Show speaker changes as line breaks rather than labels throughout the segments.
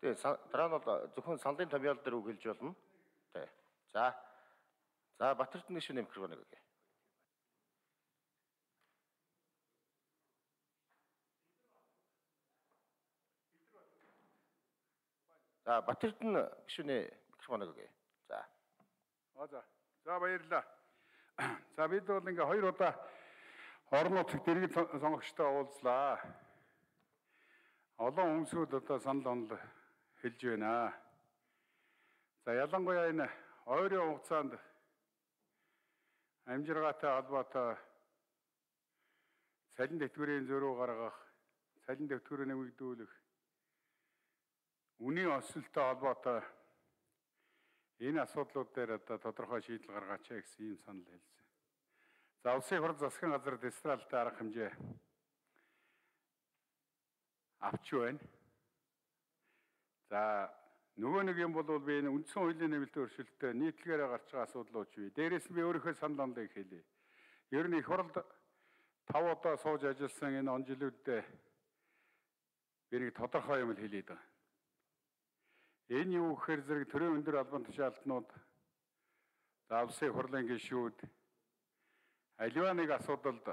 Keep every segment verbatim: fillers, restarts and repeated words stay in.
Тэгээ дараа нь бол зөвхөн саналын томьёол дээр үг хэлж болно. Тэ. За. За Батэрдэн гишүүний микрофоныг өгье. За Батэрдэн гишүүний микрофоныг өгье. За.
Аа за. За баярлалаа. За бид бол ингээ хоёр удаа орон нутгийн дэргэд сонгогчтой уулзлаа. Олон хүмүүсүүд одоо санал онол хэлж байна. За ялангуяа энэ ойрын хугацаанд амжиргаатай холбоотой цалин дэвтгэрийн зөрүү гаргах, цалин дэвтгэрийг нэмэгдүүлэх, үнийн өсөлттэй холбоотой энэ асуудлууд дээр одоо тодорхой шийдэл гаргаач гэсэн ийм санал хэлсэн. За улсын хурд засгийн газар дистралтай арга хэмжээ авч байна. За нөгөө нэг юм бол би энэ үндсэн хуулийн нэмэлт өөрчлөлтөд нийтлэгээр гарч байгаа асуудлууд бий. Дээрээс нь би өөрийнхөө санал онолыг хэлье. Ер нь их хурлд тав удаа сууж ажилласан энэ он жилүүдэд би нэг тодорхой юм хэлээд байгаа. Энэ юу гэхээр зэрэг төрийн өндөр албан тушаалтнууд за улсын хурлын гишүүд аливаа нэг асуудалд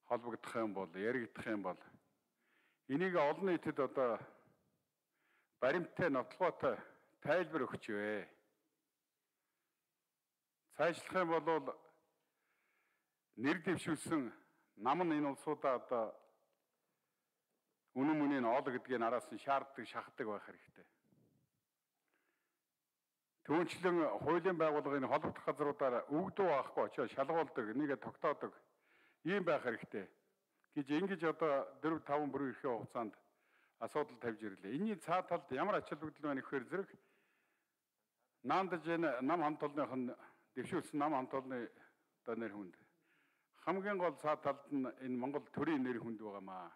холбогдох юм бол, яригдах юм бол энийг олон нийтэд одоо баримттай, нотлоготой тайлбар өгч вэ. Цаашлах юм бол нэр дэвшүүлсэн нам нь энэ улсуудаа одоо үнэн мөнийн оол гэдгийг араас нь шаарддаг, шахдаг байх хэрэгтэй. Түүнчлэн хуулийн байгууллагын холбогдох газруудаар өгдөө авахгүй очиж шалгуулдаг, нэгэ тогтоодог ийм байх хэрэгтэй гэж ингэж одоо дөрөв таван бүрийн эрхийн хугацаанд асуудал тавьж ирлээ. Энийн цаа талд ямар ач холбогдол байна гэхээр зэрэг наандаж энэ нам хамт олонных нь дэвшүүлсэн нам хамт олонны одоо нэр хүнд хамгийн гол цаа талд нь энэ Монгол төрийн нэр хүнд байгаамаа.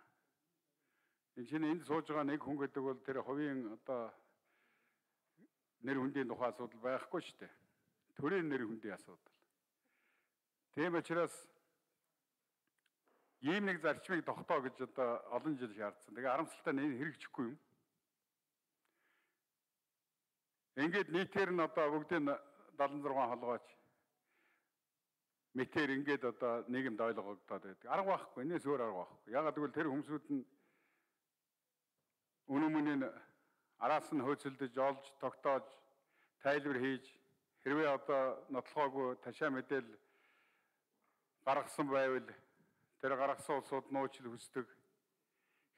Энэ чинь энд сууж байгаа нэг хүн гэдэг бол тэр хувийн одоо нэр хүндийн тухай асуудал байхгүй шүү дээ. Төрийн нэр хүндийн асуудал. Тийм учраас ийм нэг зарчмыг тогтоо гэж одоо олон жил шаардсан. Тэгээ харамсалтай нь энэ хэрэгжихгүй юм. Ингээд нийтээр нь одоо бүгдийн дадлан зургаан холгооч мэтэр ингээд одоо нийгэмд ойлгогдоод байдаг. Арга байхгүй. Энэс өөр арга байхгүй. Ягаад гэвэл тэр хүмүүсүүд нь үнэн мөнийн араас нь хөөцөлдөж, олж, тогтоож, тайлбар хийж хэрвээ одоо нотлохоогүй ташаа мэдээлэл гаргасан байвал тэр гаргасан улсууд нууцлал хүсдэг.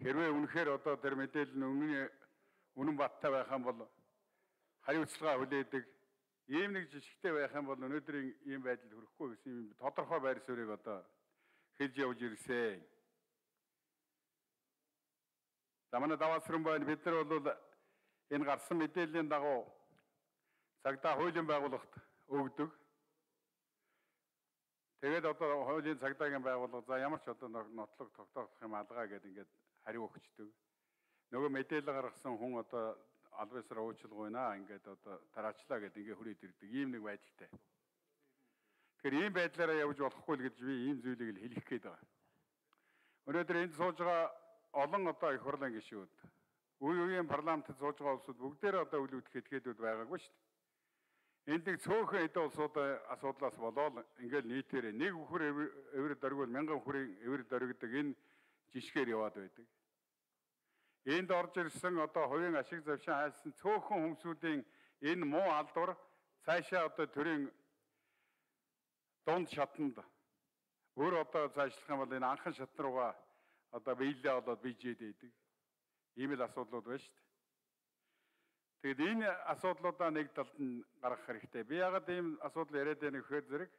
Хэрвээ үнэхээр одоо тэр мэдээлэл нь үнэн үнэн баттай байх юм бол хариуцлага хүлээдэг. Ийм нэг жишгтэй байх юм бол өнөөдрийн ийм байдалд хүрэхгүй гэсэн юм тодорхой байр суурийг одоо хэлж явж ирсэн. За манай даваасран байна. Бид нар бол энэ гарсан мэдээллийн дагуу цагдаа хуулийн байгууллагт өгдөг. Тэгээд одоо хуулийн цагдаагийн байгууллага за ямар ч одоо нотлог тогтоох юм алгаа гэдэг ингээд хариу өгчдөг. Нөгөө мэдээлэл гаргасан хүн одоо албасраа уучлах байна ингээд одоо тараачлаа гэдэг ингээд хүрээд ирдэг. Ийм нэг байдалтай. Тэгэхээр ийм байдлаараа явж болохгүй л гэж би ийм зүйлийг л хэлэх гээд байгаа. Өнөөдөр энд сууж байгаа олон одоо их хурлын гишүүд, үе үеийн парламентд сууж байгаа улсууд бүгдээрээ одоо үл үүдэх этгээдүүд байгаагүй шүү дээ. Энд нэг цөөхөн эдийн улсуудын асуудлаас болоод ингээл нийтээр нэг үхэр эвэр дөрвөл мянган хүрийн эвэр дөргөдөг энэ жишгээр яваад байдаг. Энд орж ирсэн одоо хувийн ашиг завшин хайсан цөөхөн хүмүүсийн энэ муу алдар цаашаа одоо төрийн дунд шатанд өөр одоо цаашлах юм бол энэ анхан шат руугаа одоо биелээ болоод бийжээд байдаг. Ийм л асуудлууд байна шүү дээ. Тэгэд энэ асуудлуудаа нэг талд нь гаргах хэрэгтэй. Би ягаад ийм асуудал яриад байна гэхээр зэрэг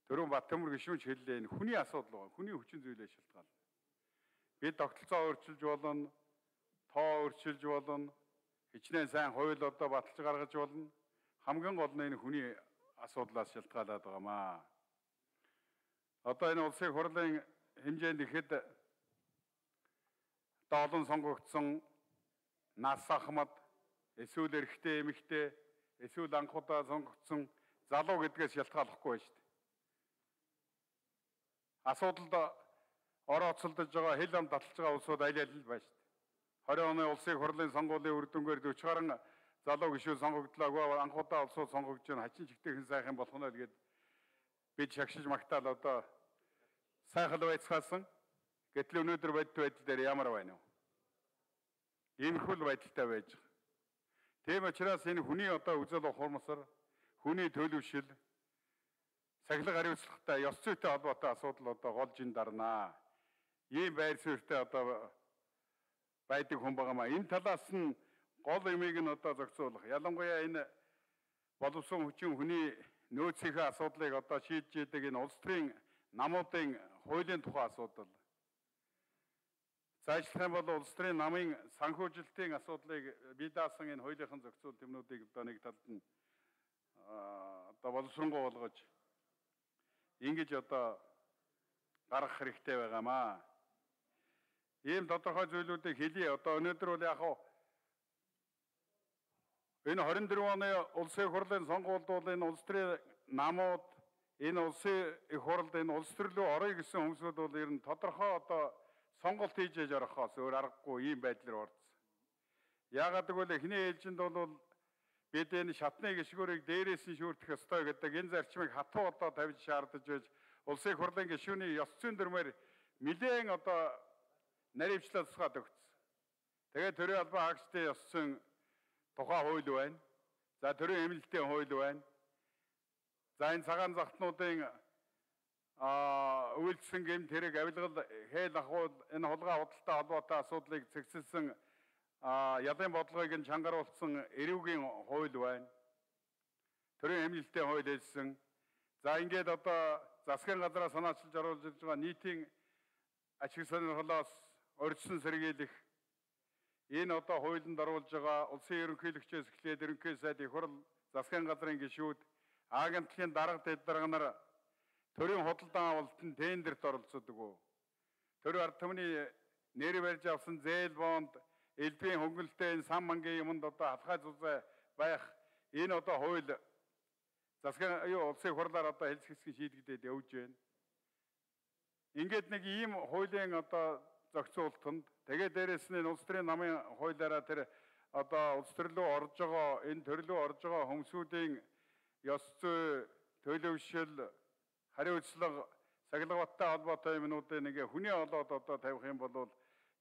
Төрөн Баттамөр гишүүн ч хэллээ энэ хүний асуудал байгаа. Хүний хүчин зүйлээ шалтгаална. Бид тогтолцоо өөрчилж болно, тоо өөрчилж болно, хичнээн сайн хууль одоо баталж гаргаж болно. Хамгийн гол нь энэ хүний асуудлаас шалтгаалаад байгаамаа. Одоо энэ улсын хурлын хэмжээнд ихэд олон сонгогдсон нас ахмад эсвэл эрэгтэй эмэгтэй эсвэл анхудаа сонгогдсон залуу гэдгээс шалтгааллахгүй байна шүү дээ. Асуудалд орооцолдож байгаа хэл ам таталж байгаа улсууд аль аль л байна шүү дээ. twenty оны улсын хурлын сонгуулийн үр дүнгээр forty гаруй залуу гишүүн сонгогдлоо. Анхудаа улсууд сонгогдож байна. Хачин чигтээ сайхан болох нь л гээд бид шагшиж магтаал одоо сайхан байцгаасан. Гэтэл өнөөдөр бодит байдал дээр ямар байна вэ? Иймэрхүү байдалтай байж байгаа. Тийм учраас энэ хүний одоо үзэл ухамсар, хүний төлөвшил, сахилга хариуцлагатай, ёс зүйтэй холбоотой асуудал одоо голж ин дарнаа. Ийм байр суурьтай одоо байдаг хүн байгаамаа. Энэ талаас нь гол юмыг нь одоо зохицуулах. Ялангуяа энэ боловсон хүчин хүний нөөцийн асуудлыг одоо шийдэж идэг энэ улс төрийн намуудын хуулийн тухай асуудал. Зайлшгүй бол улс төрийн намын санхүүжилтийн асуудлыг бие даасан энэ хуулийнхан зохицуул тэмнүүдийг одоо нэг талд нь одоо боловсронгуй болгож ингэж одоо гаргах хэрэгтэй байгаамаа. Ийм тодорхой зүйлүүдийг хэлье. Одоо өнөөдөр бол яг хаа энэ twenty-four оны улсын хурлын сонгуульд бол энэ улс төрийн намууд энэ улсын их хурлд энэ улс төрлөө орё гэсэн хүмүүсүүд бол ер нь тодорхой одоо сонголт хийж яж орохоос өөр аргагүй ийм байдлаар орсон. Яагаад гэвэл эхний ээлжинд бол бид энэ шатны гишгүүрийг дээрээс нь шүүрдэх ёстой гэдэг энэ зарчмыг хатуу одоо тавьж шаардаж байж улсын хурлын гишүүний ёс зүйн дүрмээр нэлээн одоо наривчлал тусгаад өгсөн. Тэгээд төрийн албан хаагчдын ёс зүйн тухай хууль байна. За төрийн эмнэлтийн хууль байна. За энэ цагаан захтнуудын а үйлчлэн гэмт хэрэг авилгал хээл ахуул энэ хулгай худалдаа холбоотой асуудлыг цэгцэлсэн ялын бодлогыг нь чангаруулсан эрүүгийн хууль байна. Төрийн эмнэлтийн хууль хэлсэн. За ингээд одоо засгийн газраа санаачилж оруулж ирж байгаа нийтийн ашиг сонирхлоос урьдчилан сэргийлэх энэ одоо хуулинд оруулж байгаа улсын ерөнхийлөгчөөс эхлээд ерөнхий сайд их хурл засгийн газрын гишүүд агентлагын дарга дэд дарга нар төрийн худалдан авалтанд тендерт оролцдог уу? Төрийн ард түмний нэр барьж авсан зээл бонд, элбийн хөнгөлөлтөө энэ сан мангийн юмд одоо халахай зузай байх энэ одоо хууль засгийн юу улсын хурлаар одоо хэлцгэсгийн шийдэгдээд явж байна. Ингээд нэг ийм хуулийн одоо зохицуултанд тэгээд дээрэс нь улс төрийн намын хуулиараа тэр одоо улс төрлөө орж байгаа энэ төрлөө орж байгаа хүмүүсийн ёс зүй, төлөвшил, хариуцлага, сахилгаваттай холбоотой юмнуудыг нэг хүний олоод одоо тавих юм бол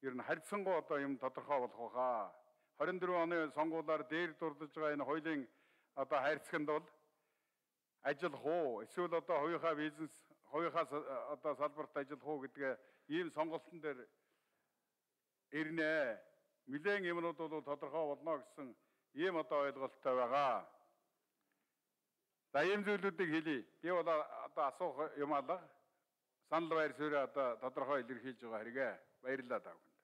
ер нь харьцангуй одоо юм тодорхой болох байхаа. twenty-four оны сонгуулиар дээр дурдж байгаа энэ хуулийн одоо хайрцагт бол ажиллах уу? Эсвэл одоо хувийнхаа бизнес, хувийнхаа одоо салбарт ажиллах уу гэдгээ ийм сонголтын дээр ирнэ. Нэлээн юмнууд бол тодорхой болно гэсэн ийм одоо ойлголттой байгаа. За ийм зүйлүүдийг хэлье. Би бол одоо асуух юм алга. Санал байр суурь одоо тодорхой илэрхийлж байгаа хэрэгэ. Баярлалаа тав.